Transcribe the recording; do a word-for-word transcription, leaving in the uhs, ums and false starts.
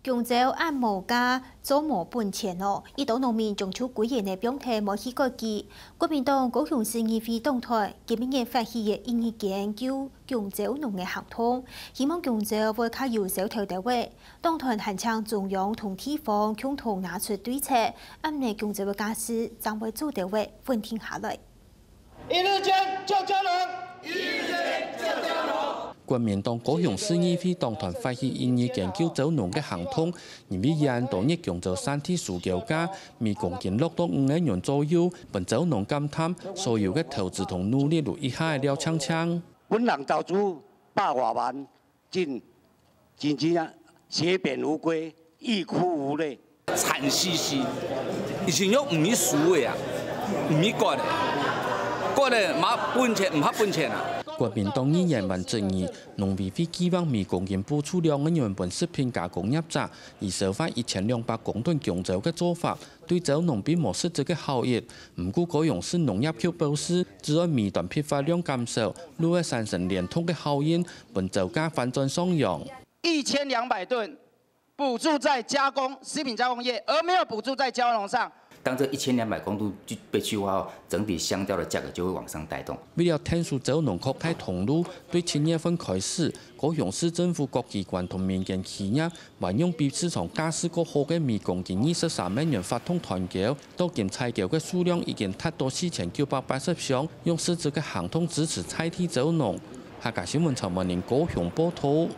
弓蕉恁無價，做無本錢哦！一兜農民將就歸園仔放忒無去割佢。國民黨高雄市議會黨團今晡日發起个異議研究弓蕉農个行動，希望弓蕉會較有銷頭兜仔。黨團還請中央同地方共同拿出對策，恁呢弓蕉个價數正會做兜仔穩定下來。 一日間救蕉農，一日間救蕉農。國民黨高雄市議會黨團發起異議研究蕉農个行動，因為這兜日弓蕉產地輸交價，每公斤落到五個銀左右，分蕉農感嘆，所有个投資同努力都一下了淨淨。本人投資百外萬， 真，真正啊，血本無歸，欲哭無淚。慘兮兮，已經有毋去輸个啊，毋去割个，割个無本錢，毋合本錢啊。國民黨議員還質疑，農委會計畫每公斤補助兩個銀分食品加工業者，以銷售一千兩百公噸弓蕉个做法， 對蕉農並無實質个效益。毋過高雄市農業局表示，只要每噸批發量減少，就會產生連動个效應，分蕉價反轉上揚。一千兩百噸補助在加工，食品加工業，而沒有補助在蕉農上。當這一千兩百公噸就被去化後，整體香蕉的價格就會往上帶動。為了𢯭手蕉農擴大通路，對七月份開始，高雄市政府各機關同民間企業 還用比市場價數較好个每公斤二十三個銀發動團購，到今採購个數量已經達到四千九百八十箱，用實質个行動支持在地蕉農。客家新聞陳文玲高雄報導。